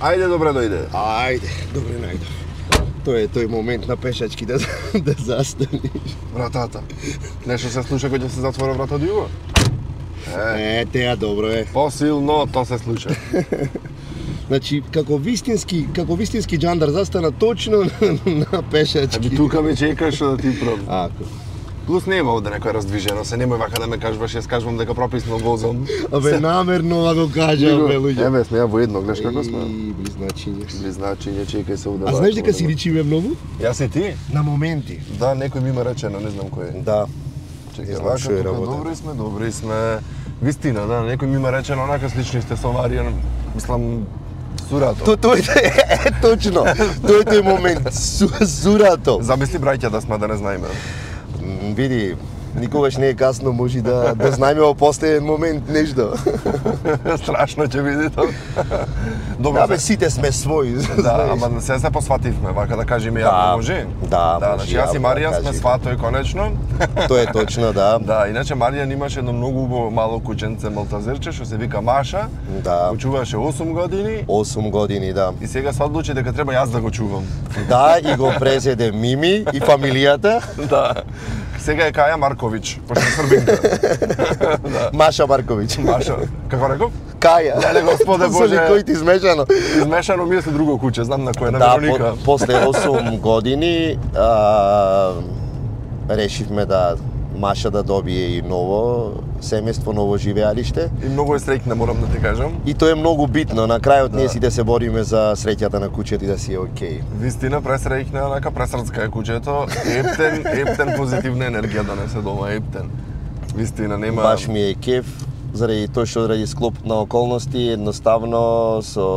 Ајде, добре дојде. Ајде, добре најдов. Тоа е тој момент на пешачки да застаниш. Вратата. Нешто се случи кога се затвора врата од југо? Теа добро е. Посилно тоа се случи. Значи, како вистински џандар застана точно на пешачки. Тука ме чекаш да ти пробам. Ако. Плюс нема овде некој раздвижено, се немој вака да ме кажуваш, јас кажувам дека прописно возам. Намерно го кажам, бе, луѓе. Еве, сме ја воедно, гледаш како сме. Близначиња. Близначиња, чекај се овде. А знаеш дека си личиме многу? Јас и ти? На моменти. Да, некој ми има речено, не знам кој е. Да. Чекај, вака, добри сме. Вистина, да, некој ми има речено, онака слични сте со Маријан, мислам, Сурато. Тоа е точно. Тоа е тој момент. Сурато. Замисли браќа да сме да не знаеме. Види, никогаш не е касно, може да знаеме во последен момент нешто. Страшно ќе биде тоа. Добро, бе, сите сме своји. Да, ама се посвативме, вака да кажеме ја може. Да, значи јас и Марија сме сватои конечно. Тоа е точно, да. Да, иначе Марија имаше едно многу убаво мало кученце малтазерче што се вика Маша. Да. Го чуваше 8 години. 8 години, да. И сега се одлучи дека треба јас да го чувам. Да, и го презеде Мими и фамилијата. Да. Сега е Каја Марковиќ, пошто србинка. Да. Маша Марковиќ. Маша. Како реков? Каја. Леле, Господе Боже. Кој ти измешано? Измешано ми е друго куче, знам на кој, на Вероника. Да, после 8 години решивме да Маша да добие и ново семејство, ново живеалиште. И многу е среќна, морам да ти кажам. И тоа е многу битно. На крајот ние сите се бориме за среќата на кучето и да си е окей. Вистина, пресреќна, онака пресрцка е кучето. Ептен позитивна енергија донесе дома, ептен. Вистина, нема... Баш ми е кеф, заради тоа што заради склоп на околности, едноставно со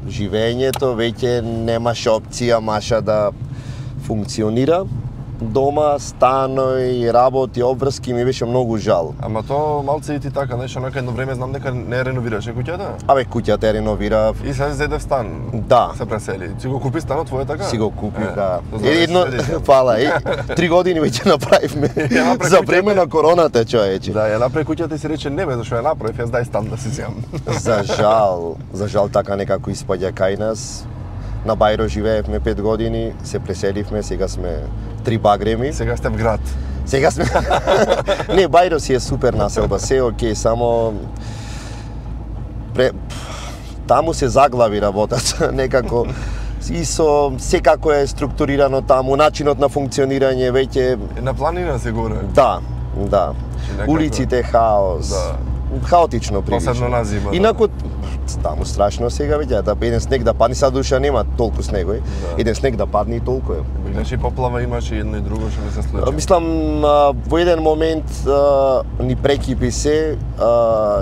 живењето веќе немаше опција Маша да функционира. Дома, станој, работи, обврски ми беше многу жал. Ама то малце и ти така, знаеш, онака едно време знам дека не реновираше куќата? Абе, куќата е реновирав. И се зедев стан. Да. Се пресели. Си го купи станот твој така? Си го купив, да. Едно, фала, 3 години веќе направивме. За време на короната, човече. Да, ја направи куќата и си рече, не бе, зашо ја направив, јас дај стан да си земам. За жал така некако испаѓа кај нас. На Бајро живеевме 5 години, се преселивме, сега сме 3 багреми. Сега сте в град. Сега сме... Не, Бајро си е супер населба, се е окей, само... Таму се заглави работата, некако... И со секако е структурирано таму, начинот на функционирање веќе... На планина се горе. Да, да. Улиците хаос. Да. Хаотично прилично. Посебно на зима. Инаку таму страшно сега веќе, да еден снег да падне, сад душа нема толку снегој. Да. Еден снег да падне и толку е. Иначе поплава имаше едно и друго што ми се случи. Мислам во еден момент ни прекипи се,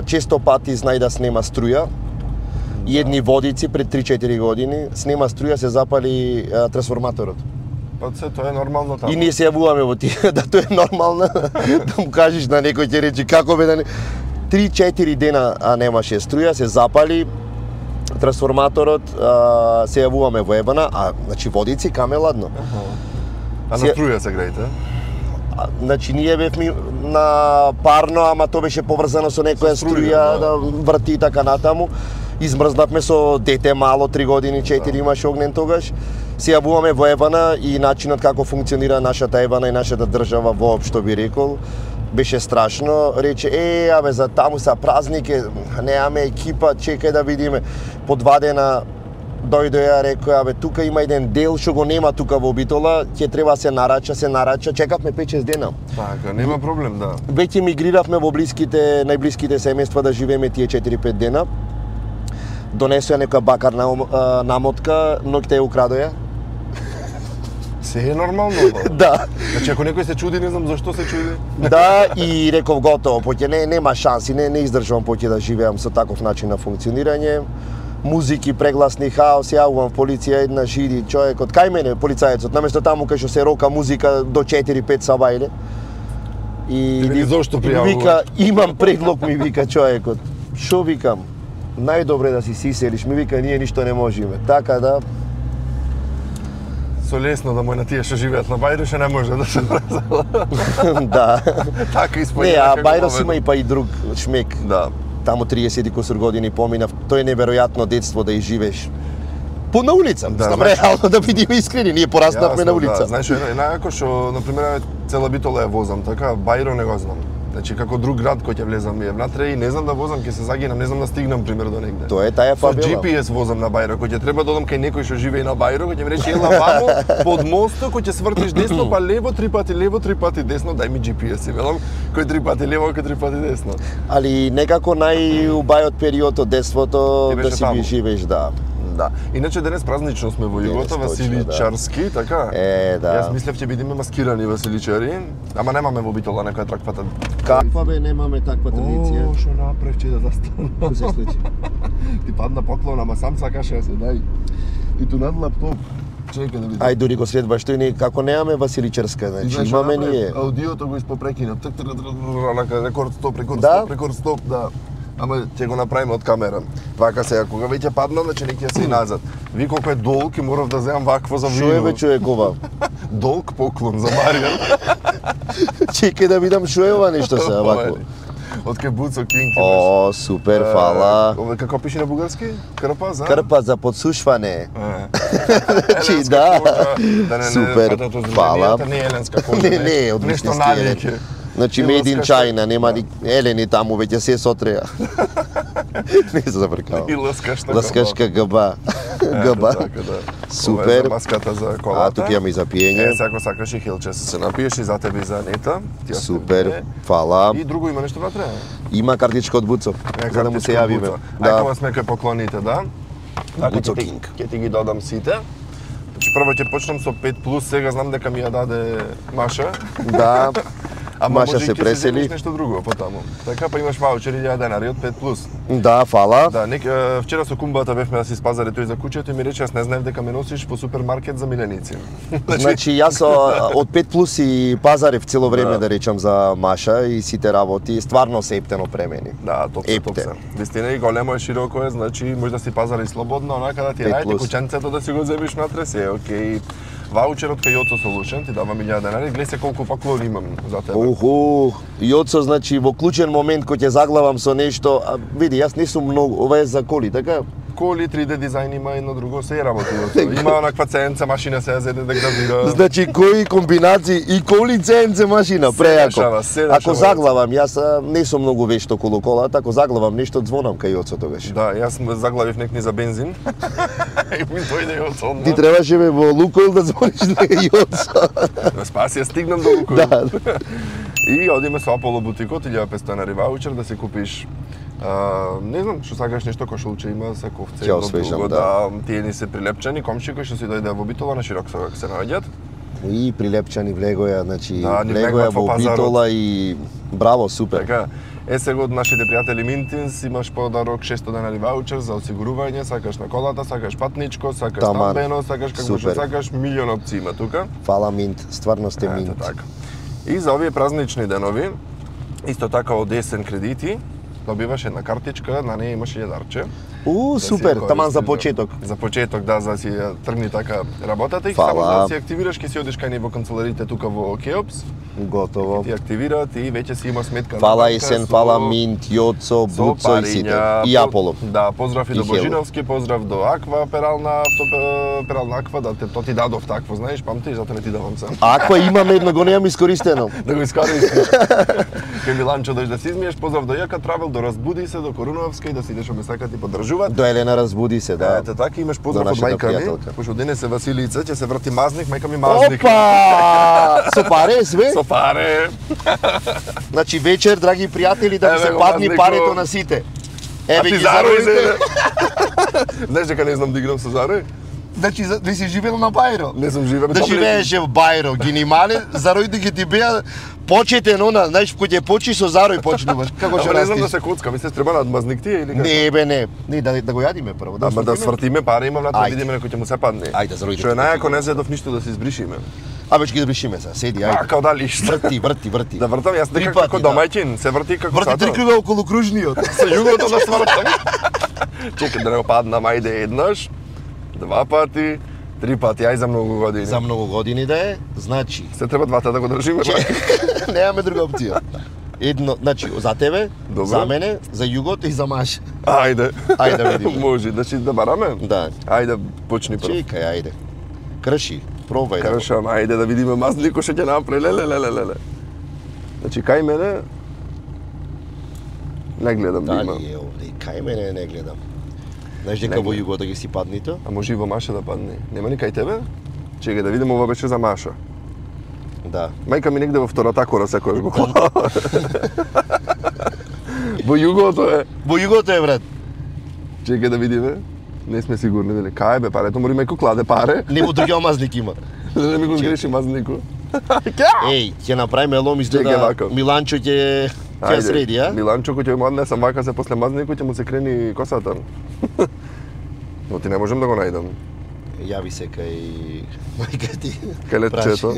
често пати знај да снема струја. И едни водици пред 3-4 години снема струја, се запали трансформаторот. Па се тоа е нормално таму. И ние се јавуваме во тие да тоа е нормално да му кажеш на некој ќе рече како бе да не 3-4 дена немаше струја, се запали трансформаторот, се јавуваме во ебана, значи водици каме ладно. А на струја се греете? Значи ние бевме на парно, ама тоа беше поврзано со некоја струја да врти и така натаму. Измрзнавме со дете мало, 3 години, 4 имаше огнен тогаш. Се јавуваме во ебана и начинот како функционира нашата ебана и нашата држава воопшто би рекол. Беше страшно, рече, абе, за таму са празники, неаме екипа, чекај да видиме. По 2 дена дојде ја рекој, абе, тука има еден дел што го нема тука во Битола, ќе треба се нарача, чекавме 5-6 дена. Така, нема проблем, да. Веќе мигриравме во најблиските семејства да живееме тие 4-5 дена. Донесоја некоја бакарна намотка, ноќта ја украдоја. Се е нормално, да. Значи, ако некој се чуди, не знам зашто се чуди. Да, и реков готово, поќе нема шанси, не издржувам поќе да живеам со таков начин на функционирање. Музики, прегласни, хаос, јавувам полиција, една жиди, човекот, кај мене полицајецот, наместо таму кај што се рока музика до 4-5 сабајле. И зошто пријавува? Вика, имам предлог, ми вика човекот. Шо викам? Најдобре да си иселиш, ми вика, ние ништо не можеме. Така да... Со лесно да мој на тие што живеат на Бајрош не може да се врзала. Да. Така испаѓа. Не, а Бајрос има и па и друг шмек. Да. таму 30 и кусур години поминав, тоа е неверојатно детство да изживееш. На улица, реално да бидеме искрени, ние пораснавме на улица. Да, знаеш, најако што, например, цела Битола ја возам, така, Бајро не го знам. Значи, како друг град кој ќе влезам е внатре и не знам да возам, ќе се загинам, не знам да стигнам, пример, до негде. Тоа е таја фабела. Со GPS возам на Бајро, кој ќе треба да одам кај некој што живее на Бајро, кој ќе ми рече, ела вамо, под мостот, кој ќе свртиш десно, па лево, 3 пати десно, дај ми GPS, и велам, кој 3 пати лево, кој 3 пати десно. Али некако најубајот период од детството да си ги живееш, да. Да. Иначе денес празнично сме во Југото, Василичарски, така? Да. Јас мислев ќе бидеме маскирани василичари, ама немаме во Битола некоја траквата. Каква бе, немаме таква традиција? О, што направив че да застана. Што се случи? Ти падна поклон, ама сам сакаше да се дај. И ту над лаптоп. Чекај да видам. Ај дури го следваш тој не како немаме Василичарска, значи имаме ние. Аудиото го испопрекина. Рекорд стоп, да. Ама ќе го направиме од камера. Вака сега, кога веќе падна, значи не ќе се и назад. Ви колку е долг и морав да земам вакво за видео. Шо е бе човекова? Долг поклон за Маријан. Чекај да видам шо е ова нешто сега вакво. Од Кебуцо Кинг. О, супер, фала. Како пише на бугарски? Крпа за? Крпа за подсушване. Чи да. Супер, фала. Не е еленска кожа. Не, од нешто навике. Значи made in China, нема елени таму веќе се сотреа. Не се забркавам. И ласкашка гба. Гба. Супер. Маската за колата. А тука имаме и за пиење. Ако сакаш и хилче се напиеш и за тебе и за Анета. Супер. Фала. И друго има нешто внатре? Има картичка од Буцо. За да му се јавиме. Ајде сме кај поклоните, да. Буцо Кинг. Ќе ти ги додам сите. Значи прво ќе почнам со 5+, сега знам дека ми ја даде Маша. Да. Ама Маша се пресели. Нешто друго потаму. Така па имаш ваучери 1000 денари од 5+. Да, фала. Да, вчера со кумбата бевме да си спазари тој за куќето и ми рече јас не знаев дека ме носиш по супермаркет за миленици. Значи јас од 5+ и пазарев цело време да речам за Маша и сите работи, стварно се ептено премени. Да, топ се. Вистина и големо е, широко е, значи може да си пазари слободно, онака да ти рајте куќенцето да си го земиш натре, се окей. Ваучерот кај Јоцо Solution ти дава 1000 денари, гледај се колку пакови имам за тебе. Уху, Јоцо, значи во клучен момент кој ќе заглавам со нешто, види, јас не сум многу, ова е за коли, така? Коли, 3D дизајн има едно друго, се работи Јоцо. Има онаква CNC машина се за да гравира. Значи кои комбинации и коли CNC машина, прејако. Ако заглавам, јас не сум многу вешт околу колата, ако заглавам нешто звонам кај Јоцо тогаш. Да, јас заглавив некни за бензин. И ми дојде Јоцо. Ти требаше ме во Лукойл да звониш на Јоцо. Да спаси, ја стигнам до Лукойл. Да. И одиме со Аполо бутикот, 1500 денари ваучер да си купиш не знам, што сакаш нешто кошулче има се ковце, ќе освежам, да. Тие ни се прилепчени, комши кои што си дојде во Битола на широк согак се наоѓаат. И прилепчани влегоја, значи да, влегоја во Битола и браво, супер. Така, сега од нашите пријатели Mintins имаш подарок 600 денари ваучер за осигурување, сакаш на колата, сакаш патничко, сакаш стамбено, сакаш како што сакаш, милион опции има тука. Фала Mint, стварно сте Mint. Така. И за овие празнични денови, исто така од есен кредити, добиваш една картичка, на неја имаш јадарче. Супер, таман за почеток. За почеток, да, за да си тргни така работата и само за да си активираш, ќе си одиш кај во канцеларите тука во Кеопс. Готово. Ти активираат и веќе си има сметка. Фала Есен, фала Mint, Јоцо, Буцо и сите. И Аполо. Да, поздрав и до Божиновски, поздрав до Аква, Перална Аква, да то ти дадов такво, знаеш, памтиш, затоа не ти давам сам. Аква имаме едно, го немам искористено. Да го искористиш. Кај Миланчо дојдеш да си измиеш, поздрав до Јака Травел, до Разбуди се, до Коруновска и да си идеш од месака ти поддржуваат. До Елена Разбуди се, да. Ете така, имаш поздрав од мајка ми, пошто денес е Василица, ќе се врати мазник, мајка ми мазник. Опа! Со паре све? Со паре. Значи вечер, драги пријатели, да ви се падни парето на сите. Еве ги заројте. Знаеш дека не знам да играм со зарој? Значи, да си живеел на Бајро? Не сум живеел. Да живееше во Бајро, генимале, заројите ги ти беа почетен она, знаеш, кој ќе почиш со зарој почнуваш. Како ќе не знам да се коцка, ми се треба на мазник тие или како? Не бе, не. Не, да го јадиме прво. Ама да свртиме пари, имам на да видиме некој ќе му се падне. Ајде, заројите. Што е најако не зедов ништо да се избришиме. Абе, ќе ги избришиме сега, седи, ајде. Како да лишта. Врти. Да вртам јас дека како домаќин, се врти како сато. Врти 3 круга околу кружниот. Со југото да свртам. Чекај да не паднам, ајде еднаш, 2 пати, 3 пати, ај за многу години. За многу години да е, значи. Се треба двата да го држиме. Немаме друга опција. Едно, значи за тебе, Добро. за мене, за југот и за Маша. Ајде. Ајде да видиме. Може, значи да бараме? Да. Ајде, почни прв. Чекај, ајде. Крши, пробај. Кршам, ајде да видиме мазнико што ќе направи. Леле. Значи кај мене не гледам да има. Дали е овде, кај мене не гледам. Знаеш дека во југот ги си паднито? А може и во Маша да падне. Нема ни кај тебе? Чекај да видиме, ова беше за Маша. Да. Мајка ми негде во втората кора секојаш го клава. Во југото е. Во југото е, брат. Чекај да видиме. Не сме сигурни дали кај бе парето, мори мајко кладе паре. Не во другиот мазник има. Да не ми го сгреши мазнико. Еј, ќе направиме лом Чекај изгледа вака. Миланчо ќе ја среди, а? Миланчо кој ќе му однесам вака се после мазнико ќе му се крени косата. Но ти не можам да го најдам. Јави се кај мајка ти. Кај летчето.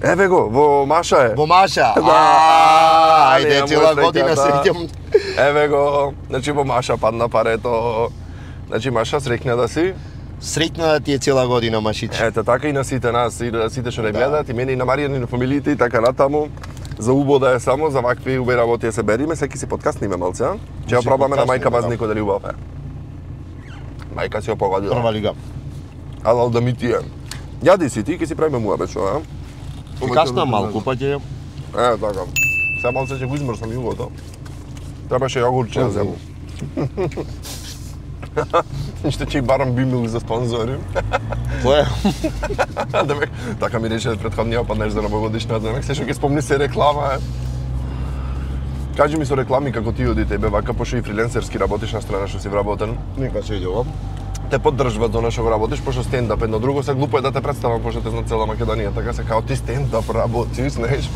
Еве го, во Маша е. Во Маша. Ајде, цела година среќам. Еве го, значи во Маша падна парето. Значи Маша среќна да си. Среќна да ти е цела година, Машич. Ете така и на сите нас, и на сите што не гледаат, и мене и на Маријан и на фамилиите и така натаму. За убода е само, за вакви убави работи да се бериме, секи си подкастниме малце, а? Ќе ја пробаме на мајка мазнико дали убав е. Мајка си ја погодила. Прва лига. Алал да ми ти е. Јади си ти, ќе си правиме муабет што, а? Касна малку, па ќе... Така. Сега малце ќе го измрсам југото. Требаше јогурче да зему. Ништо ќе и барам бимил за спонзори. Кој е? Демек, така ми рече претходниот пат нешто за новогодишна, демек се што ќе спомни се реклама е. Кажи ми со реклами како ти оди тебе, вака пошто и фриленсерски работиш на страна што си вработен. Нека се иде ова. Те поддржваат за што го работиш, пошто стендап едно друго, се глупо е да те представам пошто те знат цела Македонија, така се као ти стендап работиш, знаеш.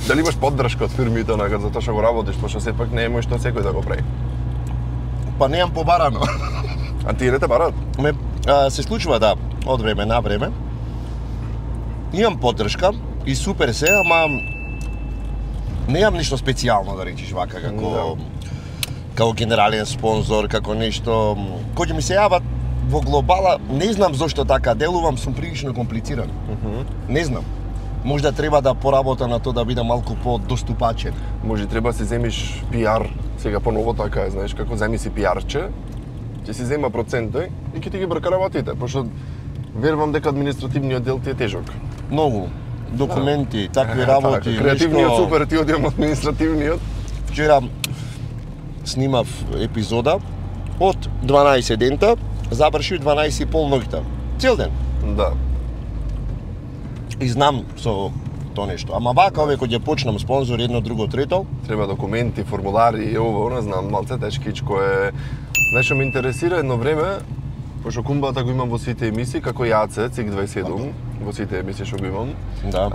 Дали имаш поддршка од фирмите онака за тоа што го работиш, пошто сепак не е што секој да го прави. Па неам побарано. А тие не те барат? Се случува да, од време на време. Имам поддршка и супер се, ама неам ништо специјално да речиш вака како генерален спонзор, како нешто кој ми се јават во глобала, не знам зошто така делувам, сум прилично комплициран. Не знам. Можда треба да поработам на тоа да бидам малку подоступачен. Може треба да си земиш пиар, сега поново така е, знаеш, како земи си пиарче, ќе си зема проценти и ќе ти ги брка работите, пошто верувам дека административниот дел ти е тежок. Многу документи, такви работи, така, креативниот нешто... супер, ти одиам административниот. Вчера снимав епизода од 12 дента, завршив 12,5 ноќта. Цел ден. Да. И знам со тоа нешто. Ама вака ове кога ќе почнам спонзор едно, друго, трето, Треба документи, формулари и ово, не знам, малце тешкичко е. Знаеш што ме интересира едно време, пошто кумбата го имам во сите емисии, како Јаце, ЦИК 27, во сите емисии што го имам. да.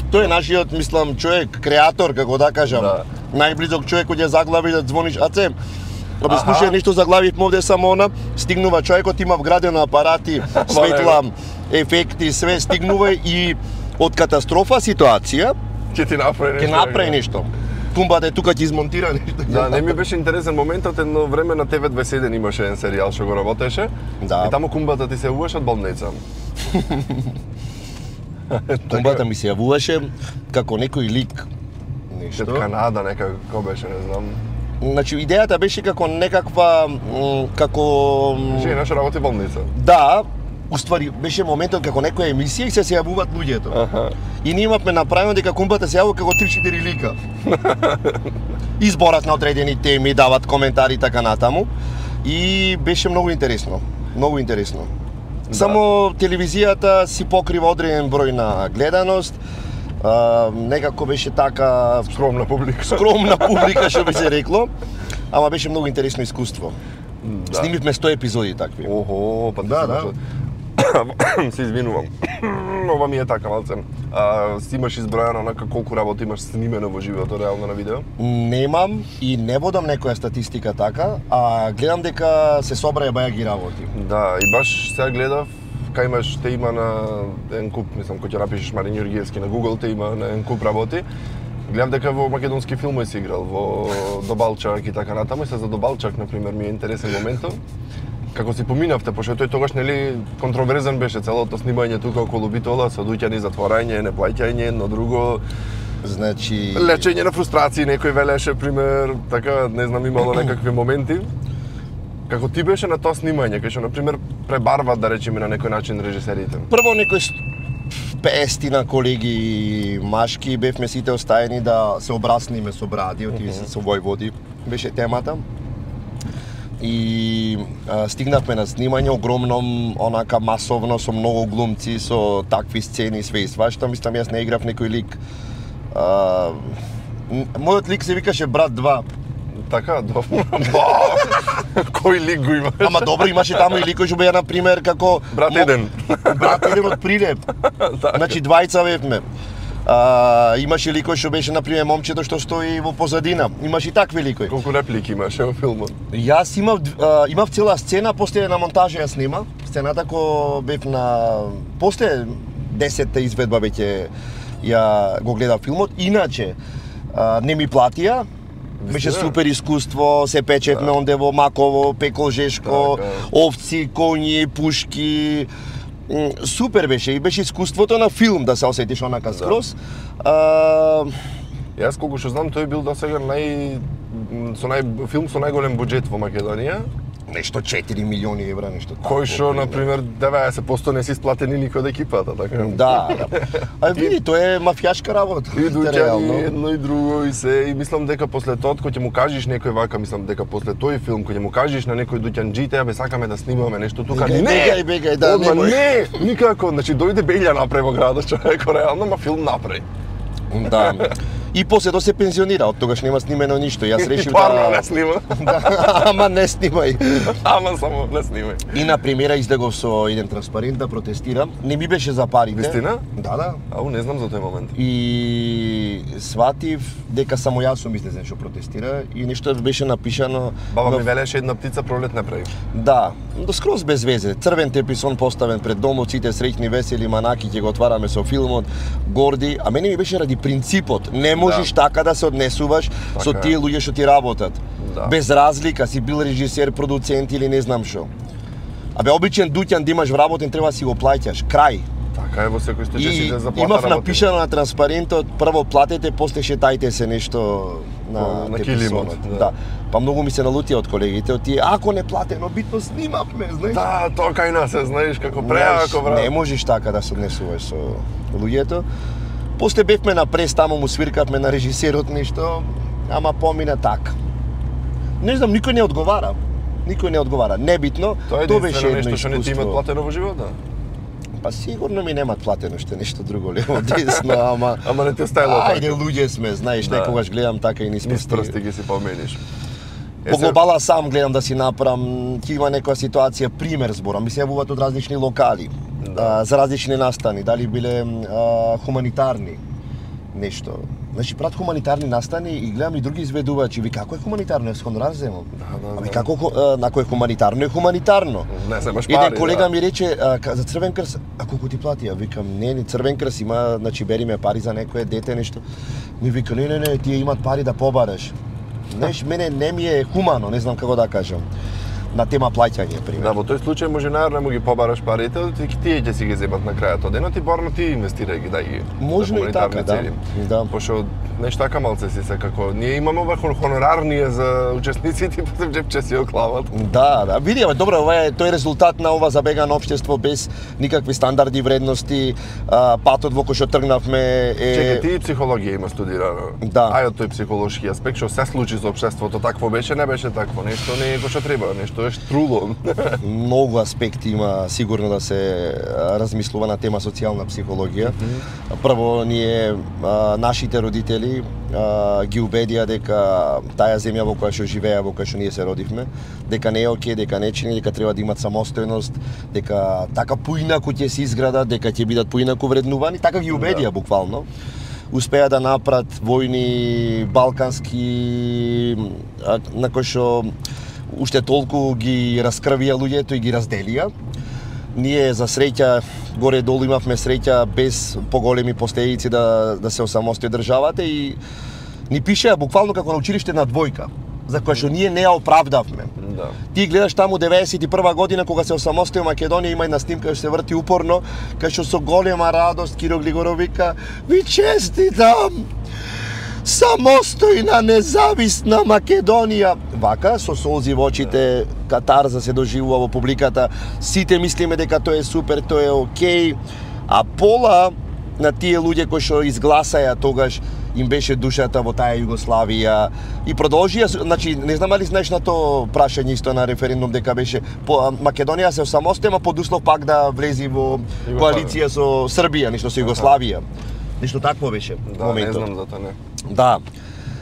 Тој е нашиот, мислам, човек, креатор, како да кажам. Да. Најблизок човек кој ја заглави да звониш, аце, абе слушај нешто заглавив овде само она, стигнува човекот, има вградено апарати, светла, ефекти, све стигнува и од катастрофа ситуација Ќе ти направи ќе направи нешто. Кумбата е тука ќе измонтира нешто. Да, не ми беше интересен моментот, едно време на TV21 имаше еден серијал што го работеше. Да. И таму кумбата ти се јавуваше од болница. Кумбата ми се јавуваше како некој лик. Нешто. Од Канада некако беше, не знам. Значи идејата беше како некаква како Жена што работи болница. да, уствари беше моментот како некоја емисија и се јавуваат луѓето. И ние имавме направено дека кумбата се јавува како 3-4 лика. Изборат на одредени теми, дават коментари и така натаму. И беше многу интересно. Многу интересно. Да. Само телевизијата си покрива одреден број на гледаност. Некако беше така Скромна публика. скромна публика што би се рекло, ама беше многу интересно искуство. Да. Снимивме 100 епизоди такви. Охо, па Да. се извинувам. Ова ми е така малце. Си имаш избројано онака колку работи имаш снимено во живото, реално на видео? Немам и не водам некоја статистика така, а гледам дека се собраја баја ги работи. Да, и баш сега гледав, кај имаш, те има на еден куп, мислам, кој ќе напишеш Марин Јургиевски на Google, те има на еден куп работи. Гледам дека во македонски филмови си играл, во Добалчак и така натаму, и се за Добалчак, например, ми е интересен моментот. Како си поминавте, пошто тој тогаш нели контроверзен беше целото снимање тука околу Битола со дуќани затворање, неплаќање, едно друго. Значи лечење на фрустрации, некој велеше пример, така не знам имало некакви моменти. Како ти беше на тоа снимање, кај што на пример пребарват да речеме на некој начин режисерите? Прво некој 50 колеги машки бевме сите оставени да се обрасниме со бради, отиде се со војводи, беше темата. И стигнавме на снимање огромно, онака масовно, со многу глумци, со такви сцени, све и свашта. Мислам, јас не играв некој лик. Мојот лик се викаше Брат 2. Така, добро. Кој лик го имаш? Ама добро, имаше таму и ликој што беа на пример како Брат 1. Брат 1 од Прилеп. Значи двајца бевме. Имаше ликој што беше на пример момчето што стои во позадина. Имаше и такви ликои. Колку реплики имаше во филмот? Јас имав цела сцена, после на монтажа ја снима. Сцената ко бев на после 10-та изведба веќе ја го гледав филмот. Иначе не ми платија. Беше супер искуство, се печевме онде во Маково, Пекол Жешко, овци, коњи, пушки. Супер беше и беше искуството на филм да се осетиш онака скроз. Јас колку што знам, тој бил досега филм со најголем буџет во Македонија. Нешто 4 милиони евра, нешто тако. Кој што, например, 90% не си сплатени никој од екипата, така? Да. А види, тоа е мафијашка работа. И дуќани, едно и друго, и се, и мислам дека после тоа, кој ќе му кажеш некој вака, мислам дека после тој филм, кој ќе му кажеш на некој дуќанџите, бе сакаме да снимаме нешто тука, бегај, да, не, никако, значи дојде Белја направи во градот, човеко, реално, ма филм направи. Да. И после тоа се пензионира, од тогаш нема снимено ништо. Јас решив да не снима. Ама не снимај. Ама само не снимај. И на премиера излегов со еден транспарент да протестирам. Не ми беше за парите. Вистина? Да. Ау, не знам за тој момент. И сватив дека само јас сум излезен што протестира и нешто беше напишано. Баба ми велеше една птица пролет не прави. Да, до скроз без везе. Црвен теписон поставен пред домот, сите среќни, весели, манаки ќе го отвараме со филмот, горди, а мене ми беше ради принципот. Не можеш така да се однесуваш со тие луѓе што ти работат. Без разлика, си бил режисер, продуцент или не знам што. Абе, обичен дуќан да имаш вработен, треба да си го плаќаш. Крај. Така е во секој случај си да заплата имав напишано на транспарентот, прво платете, после шетајте се нешто на килимот. Да. Па многу ми се налутија од колегите, од тие, ако не платено, битно снимавме, знаеш. Да, тоа кај нас е, знаеш, како преако, брат. Не можеш така да се однесуваш со луѓето. После бевме на прес, таму му свиркавме на режисерот нешто, ама помина така. Не знам, никој не одговара. Никој не одговара. Небитно, тоа беше едно нешто што не ти имат платено во животот. Па сигурно ми немат платено што нешто друго лево десно, ама не те стајло така. Ајде, луѓе сме, знаеш, некогаш гледам така и низ прсти ги си помениш. По глобала сам гледам да си направам, ќе има некоја ситуација, пример зборам, ми се јавуваат од различни локали, за различни настани, дали биле хуманитарни нешто. Значи прат хуманитарни настани и гледам и други изведувачи, ви како е хуманитарно, јас хонорар земам. Ами како нако е хуманитарно, е хуманитарно. Не се баш пари. Еден колега ми рече за Црвен крст, а колку ти плати? Ја викам не, Црвен крст има, значи бериме пари за некое дете нешто. Ми вика не, тие имат пари да побараш. Знаеш, мене не ми е хумано, не знам како да кажам. На тема плаќање, пример. Да, во тој случај може најарно му ги побараш парите, тие ќе си ги земат на крајот од денот и барно ти инвестирај ги, дај ги. Можно и така, да. Пошто нешто така малце си се како ние имаме вако хонорарние за учесниците, после джепче си оклават. Да, види, добро, ова е тој резултат на ова забегано општество без никакви стандарди, вредности, патот во кој што тргнавме е... Чекај, ти психологија има студирано. Да. Ај од тој психолошки аспект, што се случи со општеството, такво беше, не беше такво, нешто не е кој што треба, нешто е штруло. Многу аспекти има сигурно да се размислува на тема социјална психологија. Прво, ние, нашите родители, ги убедија дека таа земја во која што живеа, во која што ние се родивме, дека не е окей, дека не чини, дека треба да имат самостојност, дека така поинаку ќе се изградат, дека ќе бидат поинаку вреднувани, така ги убедија буквално. Успеа да направат војни балкански на кои што уште толку ги раскрвија луѓето и ги разделија. Ние за среќа горе-долу имавме среќа без поголеми последици да се осамостои државата и ни пишеа буквално како на училиште на двојка, за која што ние не ја оправдавме. Да. Ти гледаш таму 91 година кога се осамостои Македонија, има една снимка што се врти упорно, кај што со голема радост Киро Глигоров вика: "Ви честитам! Самостојна независна Македонија." Вака, со солзи во очите, катарза се доживува во публиката. Сите мислиме дека тоа е супер, тоа е окей, а пола на тие луѓе кои што изгласаја тогаш им беше душата во таа Југославија и продолжија, значи не знам дали знаеш на тоа прашање исто на референдум дека беше Македонија се осамостои, ама под услов пак да влези во коалиција со Србија, нешто со Југославија. Нешто такво беше моментот. Не знам за тоа, не. Да.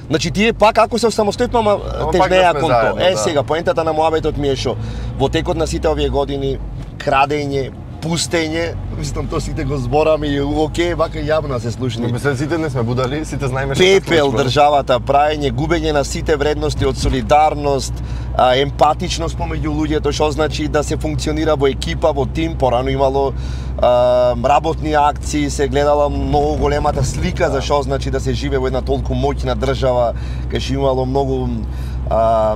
Значи тие пак ако се осамостојат, ама тежнеа кон тоа. Сега поентата на муабетот ми е што во текот на сите овие години крадење, пустење, мислам тоа сите го збораме и окей, вака јавно се слушни. Мислам сите не сме будали, сите знаеме што пепел државата, праење, губење на сите вредности од солидарност, емпатичност помеѓу луѓето, што значи да се функционира во екипа, во тим. Порано имало работни акции, се гледала многу големата слика за што значи да се живее во една толку моќна држава, кај што имало многу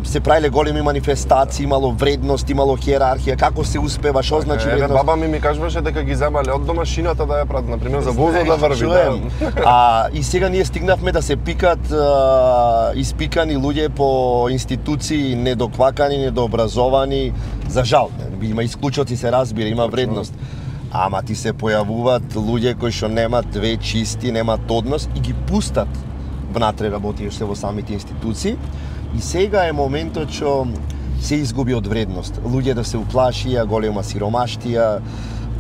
се правиле големи манифестации, имало вредност, имало хиерархија, како се успева, што значи вредност. Баба ми кажуваше дека ги земале од домашината да ја прават, на пример за возот да врви. И сега ние стигнавме да се пикат испикани луѓе по институции недоквакани, недообразовани, за жал. Има исклучоци, се разбира, има вредност. Ама ти се појавуваат луѓе кои што немаат две чисти, немаат однос и ги пустат внатре работиеш се во самите институции. И сега е моментот што се изгуби од вредност. Луѓе да се уплашија, голема сиромаштија,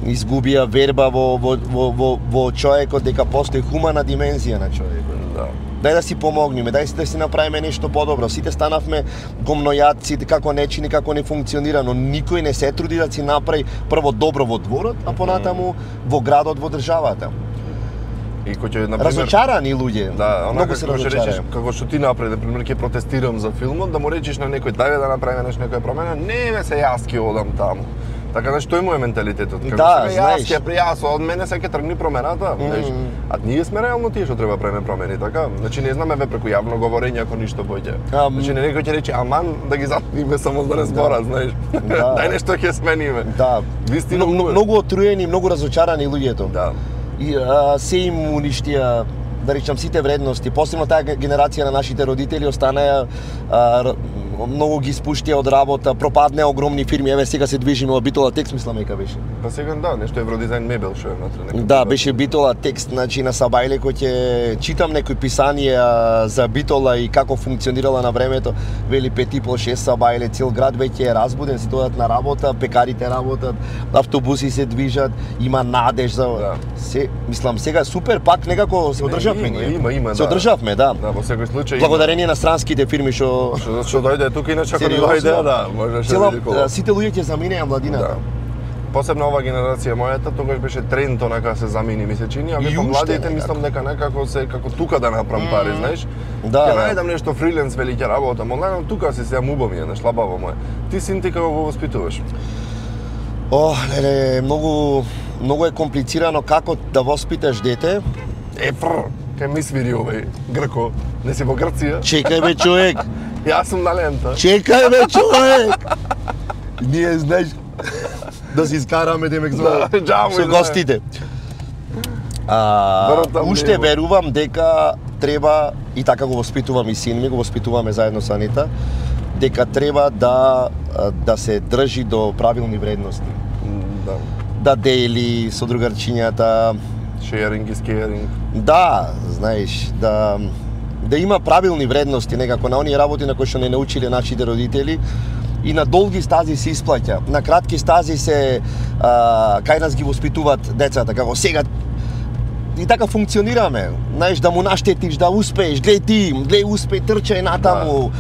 изгубија верба во човекот дека постои хумана димензија на човекот. Да. Дај да си помогнеме, дај да си направиме нешто подобро. Сите станавме гомнојаци, како нечини, како не функционира, но никој не се труди да си направи прво добро во дворот, а понатаму во градот, во државата. И кој ќе, например, разочарани луѓе. Да, многу се разочарани. Како што ти направи, например, ќе протестирам за филмот, да му речиш на некој дај да направиме нешто, некоја промена, не ме се јас ќе одам таму. Така нешто е мој менталитетот. Како да, јас ќе пријас од мене се ќе тргни промената, знаеш. А ние сме реално тие што треба правиме промени, така? Значи не знаме преку јавно говорење ако ништо поќе. Значи некој ќе рече аман да ги затвориме само да не зборат, знаеш. Дај нешто ќе смениме. Да. Вистина многу отруени, многу разочарани луѓето. Да. И се им уништија, да речам, сите вредности. Посебно таа генерација на нашите родители останаа многу ги спуштија од работа, пропаднеа огромни фирми. Еве сега се движиме од Битола Текст, мислам дека беше. Па сега да, нешто Евродизајн мебел што е внатре. Да, беше Битола Текст, значи на Сабајле кој ќе читам некои писанија за Битола и како функционирала на времето. Вели 5,5-6 Сабајле, цел град веќе е разбуден, се дојдат на работа, пекарите работат, автобуси се движат, има надеж за се, мислам сега супер пак некако се одржавме ние. Има, се одржавме, да. Да, во секој случај. Благодарение на странските фирми што дојде тука, иначе ако не дојде, да, можеше да биде коло. Сите луѓе ќе заминеа младината. Посебно ова генерација мојата, тогаш беше тренд онака се замини, ми се чини, а веќе младите мислам дека некако се како тука да направам пари, знаеш. Да. Ќе најдам нешто фриленс, вели ќе работам, онлайн тука се сеам убаво ми е, нешто лабаво мој. Ти син ти како го воспитуваш? Леле, многу е комплицирано како да воспиташ дете. Кај ми свири овој Грко, не си во Грција? Чекај бе човек. Јас сум на лента. Чекај бе човек. Ние знаеш да се искараме демек за со гостите. Уште верувам дека треба и така го воспитувам и син ми, го воспитуваме заедно со Анита, дека треба да се држи до правилни вредности. Да дели со другарчињата. Sharing is caring. Да, знаеш, да има правилни вредности некако на оние работи на кои што не научиле нашите родители и на долги стази се исплаќа. На кратки стази се кај нас ги воспитуваат децата, како сега и така функционираме. Знаеш, да му наштетиш, да успееш, гледај успеј, трчај натаму.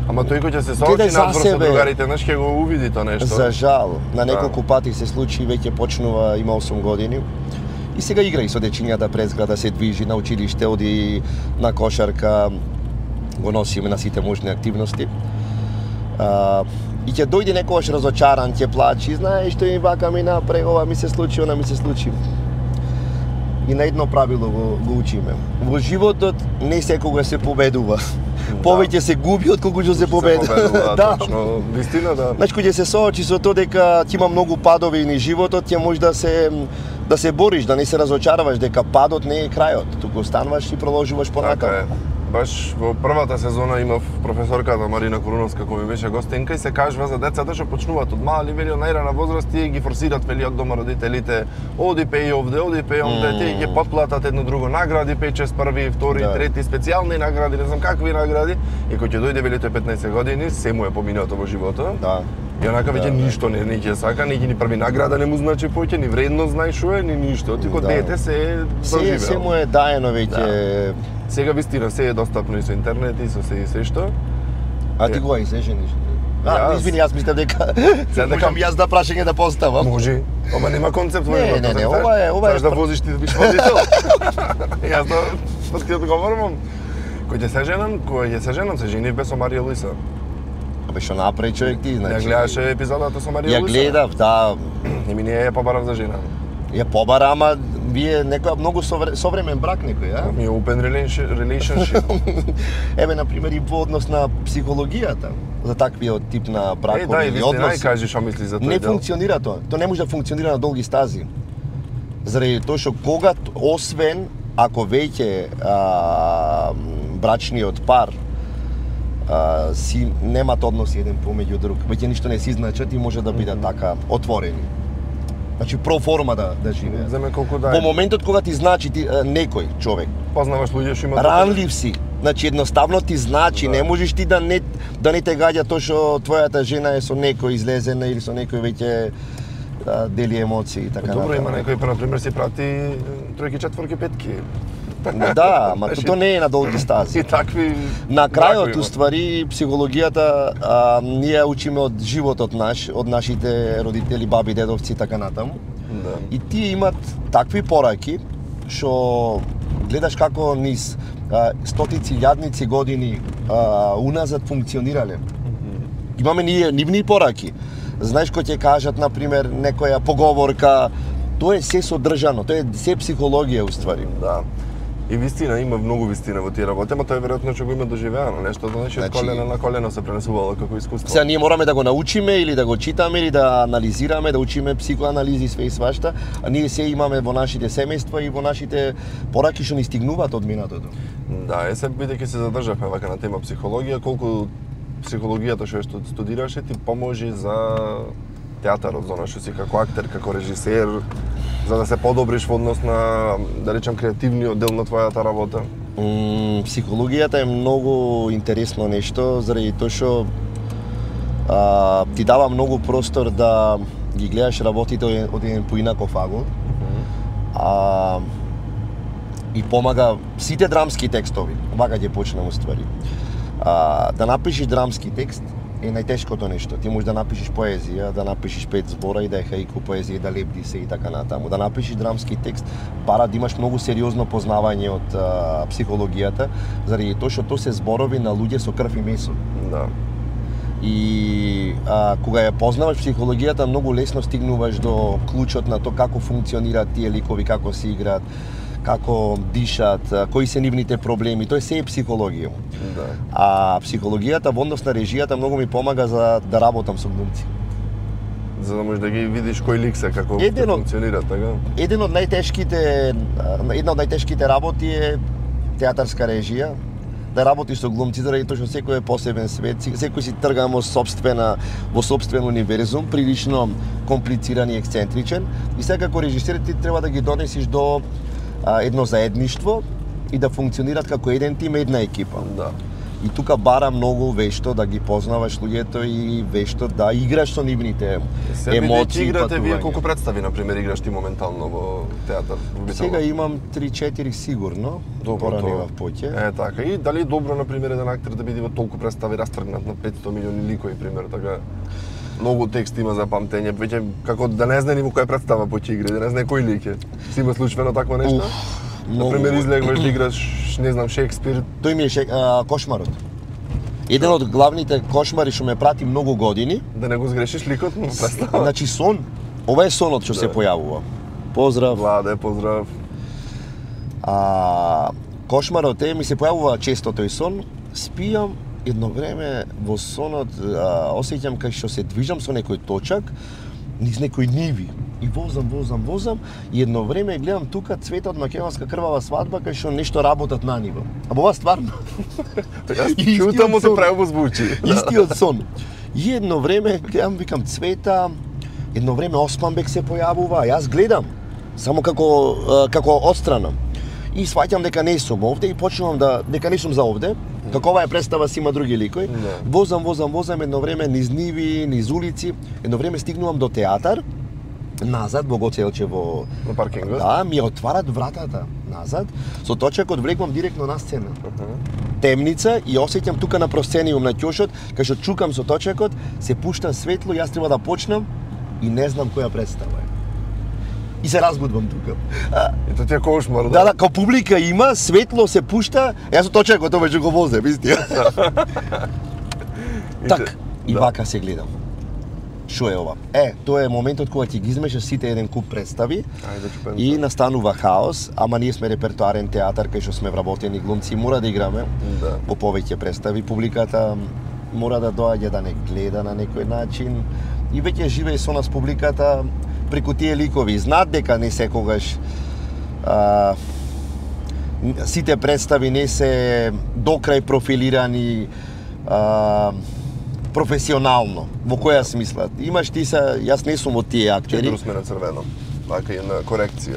Ама тој кој ќе се соочи надвор со другарите, знаеш, ќе го увиди тоа нешто. За жал, на неколку пати се случи, веќе почнува, има 8 години. И сега игра и со дечињата през града, се движи на училиште, оди на кошарка, го носиме на сите можни активности. И ќе дојде некогаш разочаран, ќе плачи, знаеш што ми вака ми направи, ова ми се случи, она ми се случи. и на едно правило го учиме. Во животот не секогаш се победува. Повеќе се губи отколку што се победува. Да, точно, вистина да. Значи кога се соочи со тоа дека ти има многу падови низ животот, ќе може да се бориш, да не се разочаруваш дека падот не е крајот, туку остануваш и продолжуваш понатаму. Баш во првата сезона имав професорката Марина Коруновска која ми беше гостинка и се кажува за децата што почнуваат од мали, вели од најрана возраст и ги форсираат вели од дома родителите, оди пеј овде, тие ги потплатат едно друго награди, 5-6 први, втори, трети, специјални награди, не знам какви награди, и кога ќе дојде вели тој 15 години, се му е поминато во животот. Да. И онака веќе ништо не ќе сака, ни први награда не му значи поќе, ни вредност знаеш што е, ни ништо. Ти кога дете се доживеал. Се му е даено веќе. Сега вистина се е достапно и со интернет и со се што. А ти го се жениш? Извини, јас мислев дека можам јас да прашање да поставам. Може, ама нема концепт во животот. Не, ова е. Знаеш да возиш ти да биш водител. Јас да подкрет говорам. Кога ќе се женам, се женив без со Марија Луиса. Абе што направи човек ти, значи. Ја гледаше епизодата со Марија Луиса. Ја гледав, да. И ми не ја побарав за жена. Ја побара, ама вие некоја многу современ брак некој, а? Ми open relationship. Еве на пример и во однос на психологијата за таквиот тип на бракови или односи. Кажи што мислиш за тој дел. Не функционира тоа. Тоа не може да функционира на долги стази. Заради тоа што кога освен ако веќе брачниот пар си немат односи еден помеѓу друг, веќе ништо не си значат и може да бидат така отворени. Значи про форма да живеат. Земе колку дај. Во моментот кога ти значи некој човек, познаваш луѓе што имаат ранлив си. Значи едноставно ти значи, не можеш ти да не те гаѓа тоа што твојата жена е со некој излезена или со некој веќе дели емоции и така натаму. Добро, има некој на пример си прати тројки, четворки, петки. Да, ама тоа не е на долги стази. И такви. На крајот, уствари, психологијата ние учиме од животот наш, од нашите родители, баби, дедовци и така натаму. Да. И тие имат такви пораки што гледаш како низ стотици, илјадници години уназад функционирале. Имаме ние нивни пораки. Знаеш кој ќе кажат, на пример, некоја поговорка, тоа е се содржано, тоа е се психологија уствари. Да. И вистина, има многу вистина во тие работи, ама тоа е веројатно што го има доживеано, нешто значи од колено на колено се пренесувало како искуство. Сега ние мораме да го научиме или да го читаме или да анализираме, да учиме психоанализи све и свашта, а ние се имаме во нашите семејства и во нашите пораки што ни стигнуваат од минатото. Да, се бидејќи се задржавме вака на тема психологија, колку психологијата што студираше ти поможи за театарот, за она што си како актер, како режисер, за да се подобриш во однос на, да речем, креативниот дел на твојата работа? Психологијата е многу интересно нешто, заради тоа што ти дава многу простор да ги гледаш работите од еден поинаков агол. И помага сите драмски текстови, вака ќе почнем уствари. Да напишеш драмски текст е најтешкото нешто. Ти можеш да напишеш поезија, да напишеш 5 збора и да е хаику поезија, да лепди се и така натаму. Да напишеш драмски текст, бара да имаш многу сериозно познавање од психологијата, заради тоа што тоа се зборови на луѓе со крв и месо. Да. И кога ја познаваш психологијата, многу лесно стигнуваш до клучот на тоа како функционираат тие ликови, како се играат, како дишат, кои се нивните проблеми, тоа се е психологија. Да. А психологијата во однос на режијата многу ми помага за да работам со глумци. За да можеш да ги видиш кој лик се, како функционира, така? Една од најтешките работи е театарска режија, да работиш со глумци, заради тоа што секој е посебен свет, секој си трга во сопствен универзум, прилично комплициран и ексцентричен, и сега како режисер ти треба да ги донесиш до едно заедништво и да функционираат како еден тим, една екипа. Да. И тука бара многу вешто да ги познаваш луѓето и вешто да играш со нивните емоции. Играте вие колку представи на пример играш ти моментално во театар? Сега имам 3-4 сигурно. Добро тоа. Поќе. Така. И дали е добро на пример еден актер да биде во толку представи растргнат на 500 милиони ликови пример, така? Многу текст има за памтење, веќе како да не знае ни во која представа ќе игра, да не знае кој лик е. Си има случајно такво нешто? Например, излегваш да играш, не знам, Шекспир. Тој ми е кошмарот. Еден од главните кошмари што ме прати многу години. Да не го сгрешиш ликот на представа. Значи сон. Ова е сонот што се појавува. Поздрав. Владе, поздрав. Кошмарот ми се појавува често тој сон, спијам, едно време во сонот осеќам кај што се движам со некој точак, низ некои ниви. И возам, и едно време гледам тука цветот македонска крвава свадба кај што нешто работат на ниво. А ова стварно. Чутам му се право звучи. Истиот сон. И едно време гледам, викам цвета, едно време Османбек се појавува, а јас гледам само како отстрана. И сваќам дека не сум овде и почнувам дека не сум за овде. Како ова е представа си има други ликои. Возам едно време низ ниви, низ улици. Едно време стигнувам до театар. Назад во Гоцелче во на паркингот. Да, ми отварат вратата назад. Со точакот влекувам директно на сцена. Темница и осеќам тука на просцениум на ќошот, кај што чукам со точакот, се пушта светло, јас треба да почнам и не знам која представа е. И се разбудвам тука. Ето ти е кошмар, да? Да, као публика има, светло се пушта, јас со точакот тоа веќе го возем, истина. Так, и вака се гледам. Шо е ова? Тоа е моментот кога ќе ги измешаш сите еден куп представи и настанува хаос, ама ние сме репертуарен театар кај што сме вработени глумци, мора да играме во повеќе представи, публиката мора да доаѓа да не гледа на некој начин и веќе живее со нас публиката преку тие ликови. Знаат дека не секогаш сите представи не се докрај профилирани професионално. Во која смисла? Имаш ти јас не сум од тие актери. Четиро сме на црвено. Вака е на корекција.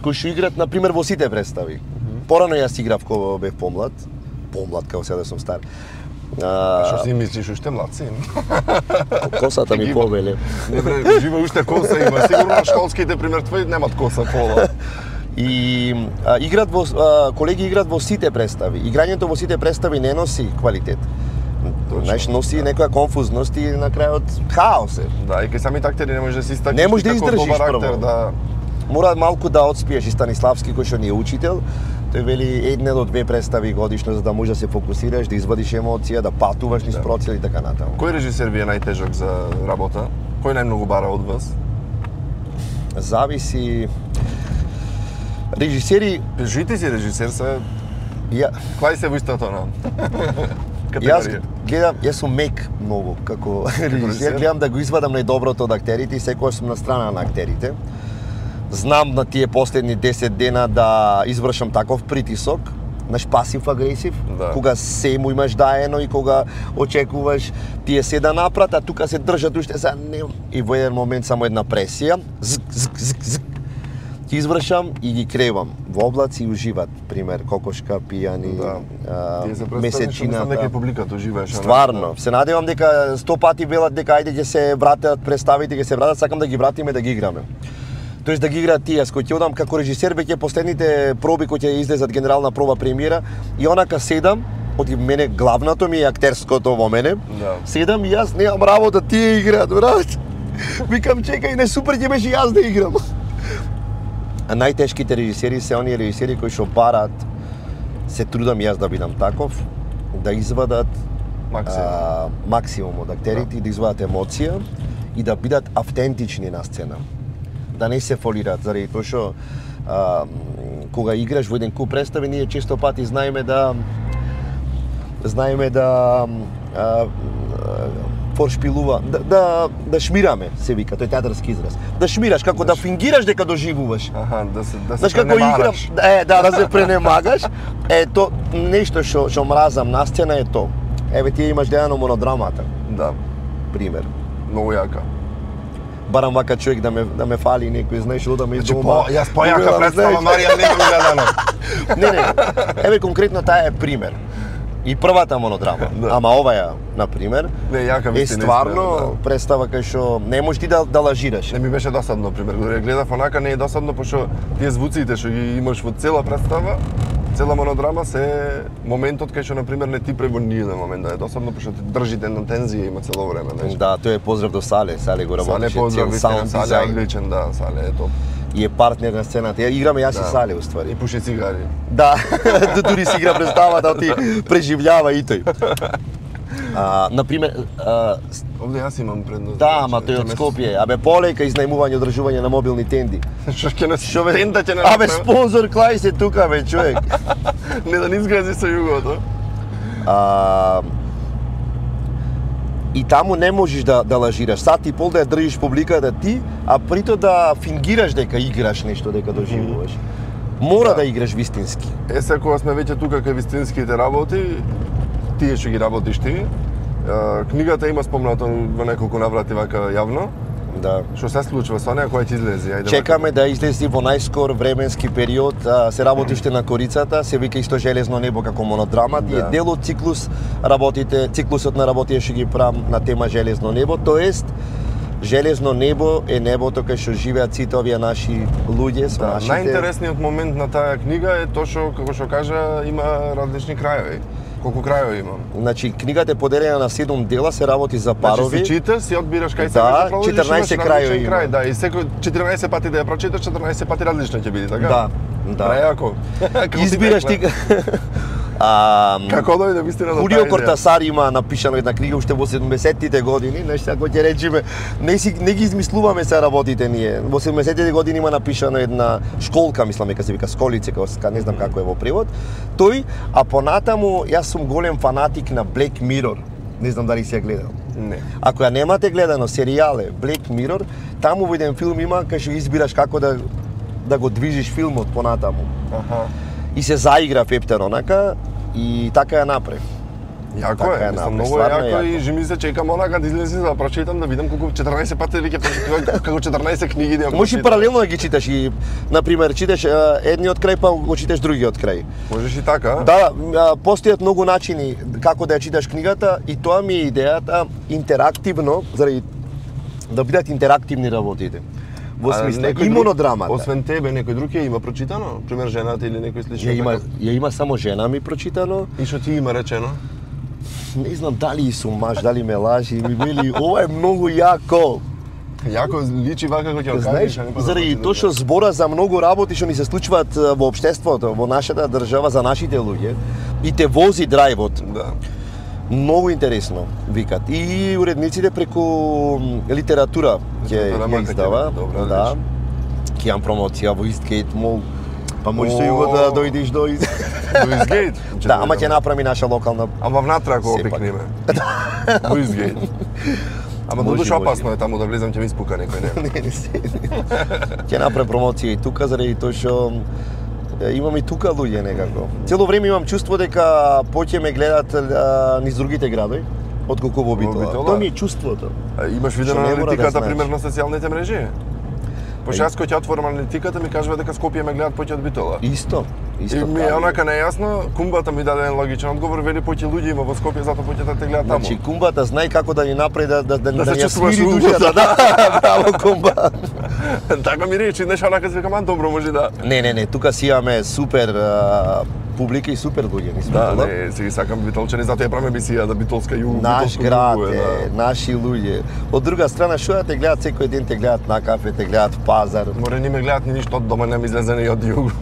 Кои што играт на пример во сите представи. Порано јас играв кога бев помлад како сега да сум стар. Што си мислиш, уште млад си? Косата ми повеле. Не бре, живе уште коса има. Сигурно школските пример твои немат коса пола. И колеги играт во сите представи. Играњето во сите представи не носи квалитет. Знаеш, носи некоја конфузност и на крајот хаос е. Да, и кај самите актери не можеш да си стакнеш. Не можеш да издржиш прво. Да. Мора малку да отспиеш. И Станиславски кој што ни е учител, тој вели 1 до 2 представи годишно за да можеш да се фокусираш, да извадиш емоција, да патуваш низ процел и така натаму. Кој режисер ви е најтежок за работа? Кој најмногу бара од вас? Зависи. Режисери... Жите си режисер се... Клај се во истото на категорија. Јас сум мек многу како режисер. Гледам да го извадам најдоброто од актерите и секогаш сум на страна на актерите. Знам на тие последни 10 дена да извршам таков притисок, наш пасив-агресив, кога се му имаш даено и кога очекуваш тие се да напрат, а тука се држат уште за не... И во еден момент само една пресија, зк. Ги извршам и ги кревам во облаци и уживат, пример Кокошка, Пијани, Месечината. Нека публиката уживаш. Стварно, се надевам дека 100 пати велат дека ајде ќе се вратат представите, ќе се вратат, сакам да ги вратиме да ги играме. Тоест да ги играат тие, кој ќе одам како режисер веќе последните проби кои ќе излезат генерална проба премиера и онака седам, од мене главното ми е актерското во мене. Седам и јас немам работа, тие играат, брат. Викам чекај, не супер ќе беше јас да играм. А најтешките режисери се оние режисери кои што барат, се трудам јас да бидам таков, да извадат максимум од актерите, да извадат емоција и да бидат автентични на сцена. Да не се фолираат, заради тоа што кога играш во еден куп представи, ние често пати знаеме да форшпилува, да шмираме, се вика, тој театарски израз. Да шмираш, како да фингираш дека доживуваш. Да се пренемагаш. Да се пренемагаш. То нешто што мразам на сцена е то. Еве ти имаш гледано монодрамата. Да. Пример. Многу јака. Барам вака човек да ме фали некој, знаеш, одам из дома. Јас појака представа Марија не го гледано. Не. Еве конкретно таа е пример. И првата монодрама, ама оваа, например, е стварно представа кај што не можеш ти да лажираш. Не ми беше досадно, пример, додека гледав онака не е досадно, пошто тие звуците што ги имаш во цела представа, цела монодрама се моментот кај што например не ти пребо ни еден момент да е досадно, пошто ти држи на тензија има цело време, знаеш. Да, тој е поздрав до Сале го работеше, цел саунд дизајн, одличен, да, Сале е топ. И е партнер на сцената. Играме јас и Сале уствари. И пуши цигари. Да, дури си игра представата, ти преживљава и тој. Например, овде јас имам предност. Да, ама тој од Скопје. Абе полека изнајмување и одржување на мобилни тенди. Што ќе нас тенда ќе Абе спонзор клај се тука бе, човек. Не да не изгрази со југото. И таму не можеш да лажираш. Сат и пол да ја држиш публиката ти, а прито да фингираш дека играш нешто, дека доживуваш. Мора да играш вистински. Сега кога сме веќе тука кај вистинските работи, тие што ги работиш ти, книгата има спомнато во неколку наврати вака јавно. Да. Што се случува со неа која ќе излезе? Ајде. Чекаме да излезе во најскор временски период, се работи уште на корицата, се вика исто Железно небо како монодрама, тие дел од циклусот на работите што ги правам на тема Железно небо, тоест Железно небо е небото кај што живеат сите овие наши луѓе со нашите. Најинтересниот момент на таа книга е тоа што како што кажа има различни крајови. Колку крајови има? Значи книгата е поделена на 7 дела, се работи за парови. Значи си читаш, си одбираш кај се продолжиш, 14 крајови има. Да, и секој 14 пати да ја прочиташ, 14 пати различно ќе биде, така? Да. Прејако. Избираш ти. Како дојде вистина до Хулио Кортасар има напишано една книга уште во 70-тите години, нешто ако ќе речеме, не ги измислуваме се работите ние. Во 70-тите години има напишано една школка, мислам дека се вика Сколице, не знам како е во превод. Тој, а понатаму јас сум голем фанатик на Black Mirror. Не знам дали си ја гледал. Не. Ако ја немате гледано, серијале Black Mirror, таму во еден филм има кај што избираш како да го движиш филмот понатаму. И се заигра Пептер онака и така ја направи. Јако е, мислам многу јако и жи ми се чекам онака да излезе да прочитам да видам колку 14 пати веќе како 14 книги да ја прочитам. Можеш паралелно да ги читаш и на пример читаш едниот крај па го читаш другиот крај. Можеш и така? Да, постојат многу начини како да ја читаш книгата и тоа ми е идејата интерактивно, заради да бидат интерактивни работите. Во смисла и монодрамата. Освен тебе некој друг ја има прочитано? Пример жената или некој слично? Ја има само жена ми прочитано. И што ти има речено? Не знам дали сум маж, дали ме лажи, ми вели ова е многу јако. Јако личи вака како ќе кажеш. Заради тоа што збора за многу работи што ни се случуваат во општеството, во нашата држава за нашите луѓе и те вози драйвот. Да. Многу интересно, викат. И уредниците преку литература ќе издава. Да. Ќе имам промоција во Eastgate Mall. Па можеш со југо да дојдеш до Eastgate? Да, ама ќе направи наша локална. Ама внатре ако опикнеме. Во Eastgate. Ама додуш опасно е таму да влезам, ќе ми испука некој, не? Не се. Ќе направи промоција и тука заради тоа што имам и тука луѓе некако. Цело време имам чувство дека поќе ме гледат низ другите градови отколку во Битола. Тоа ми е чувството. Имаш видено аналитиката пример на социјалните мрежи? Пошто јас кога ќе отворам аналитиката ми кажува дека Скопје ме гледат поќе од Битола. Исто. И ми е онака нејасно, кумбата ми даде еден логичен одговор, вели поќе луѓе има во Скопје, затоа поќе да те гледат таму. Значи кумбата знај како да ни направи да се смири душата. Да, браво кумба. Така ми речи, нешто онака се викам, добро може да. Не, тука си имаме супер публика и супер луѓе, ни Да, не, се ги сакам битолчани, затоа ја правиме емисија да битолска југ, наш град е, наши луѓе. Од друга страна, што да те гледат секој ден, те гледат на кафе, те гледат пазар. Море не ме гледат ни ништо од дома, не ми излезене и од југ.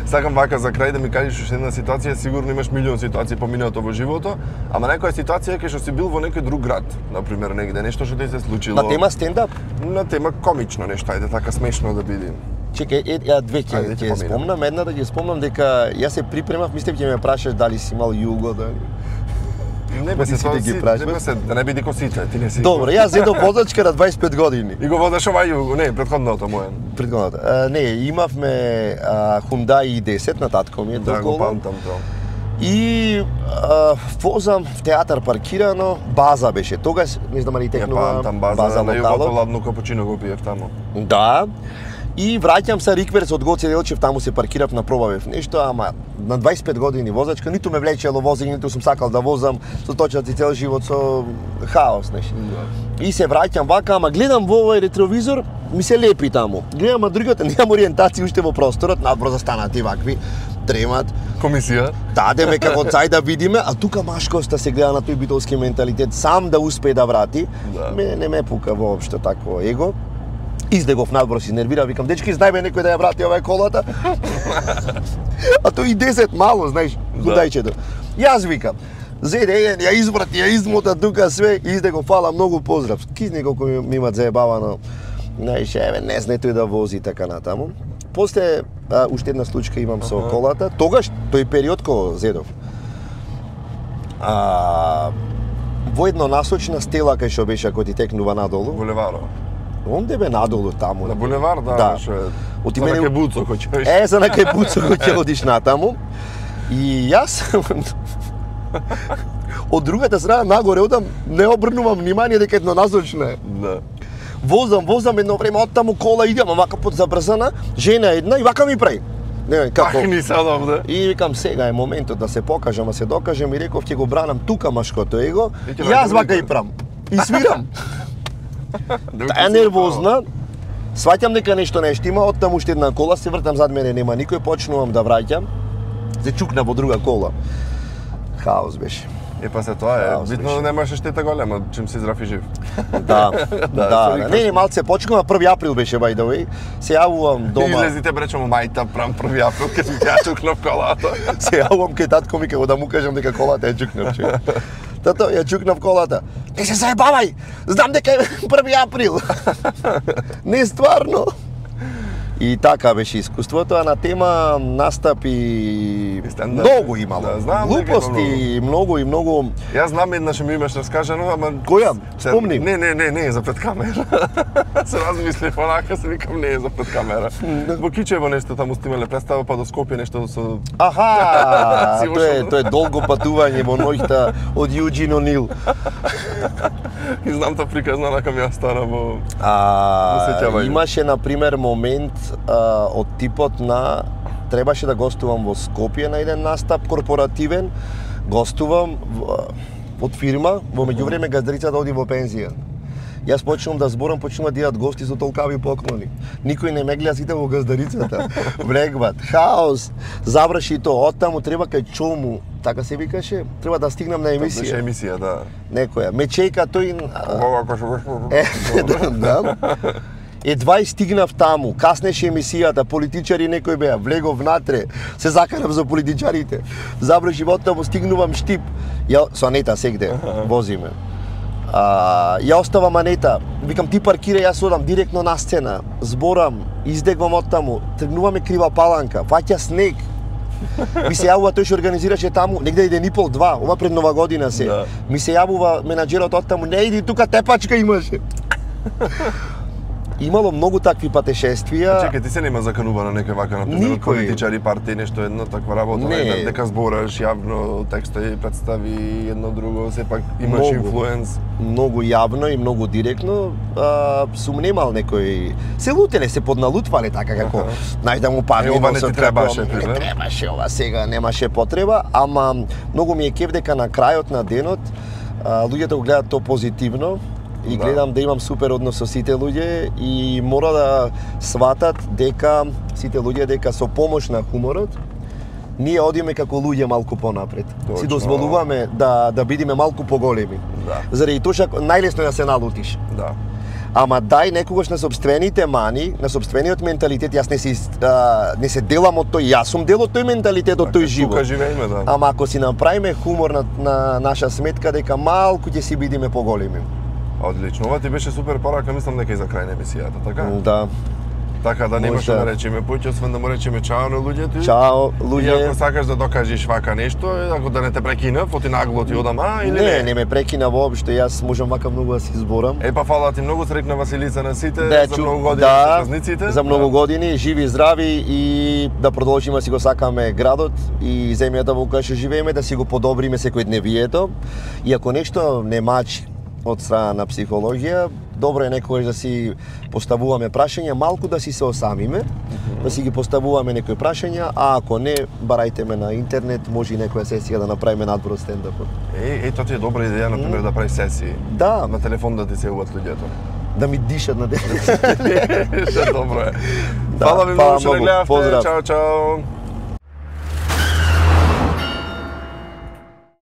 Сакам вака за крај да ми кажеш уште една ситуација, сигурно имаш милион ситуации поминато во живото, ама некоја ситуација кај што си бил во некој друг град, на пример негде, нешто што ти се случило. На тема стендап? На тема комично нешто, ајде така смешно да биде. Чекај, две ќе спомнам, една да ги спомнам дека јас се припремав, мислев ќе ме прашаш дали си имал југо, дали. Не бе се тоа ги прашаш. Да не биде косите, ти не си. Добро, јас зедов возачка на 25 години. И го водаш ова југо, не, претходното моје. Претходното. Не, имавме Hyundai i10 на татко ми е да, го памтам тоа. И возам в театар паркирано, база беше. Тогаш не знам дали текнува база на југото ладно капучино го пиев таму. Да. И враќам се рикверс од Гоце Делчев, таму се паркирав, направив нешто, ама на 25 години возачка, ниту ме влечело возење, ниту сум сакал да возам, со точаци цел живот со хаос нешто. И се враќам вака, ама гледам во овој ретровизор, ми се лепи таму. Гледам а другата, немам ориентација уште во просторот, надбор застанати вакви, дремат. Комисија? Дадеме како цај да видиме, а тука машкоста се гледа на тој битолски менталитет, сам да успее да врати. Мене не ме пука воопшто такво его. Издегов надбор се нервира, викам, дечки, знај бе некој да ја врати оваа колата. А тој и 10 мало, знаеш, гудајчето. Јас викам, Зеде, ја изврати, ја измота тука све, изде го фала многу поздрав. Кизни колку ми имат заебавано. Знаеш, еве, не знае тој да вози така натаму. После, уште една случка имам со колата. Тогаш, тој период кога зедов. Во еднонасочна стела кај што беше ако ти текнува надолу. Булеваро. Онде бе надолу таму. На булевар, да. Оти мене кај Буцо кој ќе. За на кај Буцо кој ќе одиш натаму. И јас од другата страна нагоре одам, не обрнувам внимание дека еднонасочна е. Да. Возам едно време од таму кола идам, вака под забрзана, жена една и вака ми прави. Не, како? Ни садам, да. И викам сега е моментот да се покажам, се докажам и реков ќе го бранам тука машкото его. И јас вака и прам. И свирам. Таа нервозна. Сваќам дека нешто не штима, оттам уште една кола, се вртам зад мене, нема никој, почнувам да враќам. Се чукна во друга кола. Хаос беше. Па се тоа е, битно немаше штета голема, чим си здрав и жив. Да. Не, малце почнува 1 април беше by the way. Се јавувам дома. Излезите бречемо мајта прам 1 април кога ми ја чукнав колата. Се јавувам кај татко ми како да му кажам дека колата ја чукнав. Тато, ја чукнав колата. Не се заебавај! Знам дека е 1 април. Не стварно. И така беше искуството, а на тема настапи многу имало. Да, знам, глупости, многу. Јас знам еднаш ми имаш раскажано, ама која? Спомни. Не е за пред камера. Се размислив онака, се викам не е за пред камера. Во Кичево нешто таму снимале представа, па до Скопје нешто со. Аха, тоа е долго патување во ноќта од Юџин Онил. И знам та приказна онака ми ја стара во. Имаше на пример момент од типот на требаше да гостувам во Скопје на еден настап корпоративен, гостувам од фирма, во меѓувреме газдарицата оди во пензија. Јас почнувам да зборам, почнуваат да идат гости со толкави поклони. Никој не ме гледа, сите во газдарицата. Влегват, хаос. Заврши тоа, оттаму треба кај Чому, така се викаше, треба да стигнам на емисија. Беше емисија, да. Некоја. Ме чека тој. Да. Едва стигнав таму, каснеше емисијата, политичари некој беа, влегов внатре, се закарав за политичарите. Заврши оттаму, стигнувам Штип. Со Анета сегде возиме. Ја оставам Анета, викам ти паркира, јас одам директно на сцена, зборам, издегвам оттаму, тргнуваме Крива Паланка, фаќа снег. Ми се јавува тој што организираше таму, негде 1,5-2, ова пред Нова година се. Да. Ми се јавува менаџерот оттаму, не иди тука, тепачка имаше. Имало многу такви патешествија. Чекај, ти се нема заканувано некој вака, например, политичари, партии, нешто едно таква работа, дека збораш јавно, текстови, представи, едно друго, сепак имаш инфлуенс. Многу јавно и многу директно, сум немал некој... Се лутеле, се подналутвале така како, знаеш да му падне. Ова не ти требаше, не требаше ова сега, немаше потреба, ама многу ми е кеф дека на крајот на денот луѓето го гледаат тоа позитивно. И гледам да имам супер однос со сите луѓе и мора да сватат дека сите луѓе дека со помош на хуморот ние одиме како луѓе малку понапред. Точно. Си дозволуваме да бидиме малку поголеми. Да. Заради тоа што најлесно е да се налутиш. Да. Ама дај некогаш на сопствените мани, на сопствениот менталитет, јас не се делам од тој, јас сум дел од тој менталитет, од тој живот. Тука живееме, да. Ама ако си направиме хумор на наша сметка дека малку ќе си бидиме поголеми. Одлично, ова ти беше супер порака, мислам дека и за крај на емисијата, така? Да. Така да немаше да речеме поќе, освен да му речеме чао на луѓето. Чао, луѓе. И ако сакаш да докажеш вака нешто, ако да не те прекинав, оти нагло ти одам, или не ме прекина воопшто, јас можам вака многу да си зборам. Па фала ти многу, срекна Василица на сите, за многу години со празниците. За многу години, живи и здрави и да продолжиме да си го сакаме градот и земјата во која што живееме, да си го подобриме секојдневието. И ако нешто не мачи од страна на психологија, добро е некогаш да си поставуваме прашања, малку да си се осамиме, да си ги поставуваме некои прашања, а ако не, барајте ме на интернет, може и некоја сесија да направиме надвор од стендапот. Тоа ти е добра идеја, например, да прави сесии. Да. На телефон да ти се јавуваат луѓето. Да ми дишат на телефон. Добро е. Фала ви многу што гледавте. Чао, чао.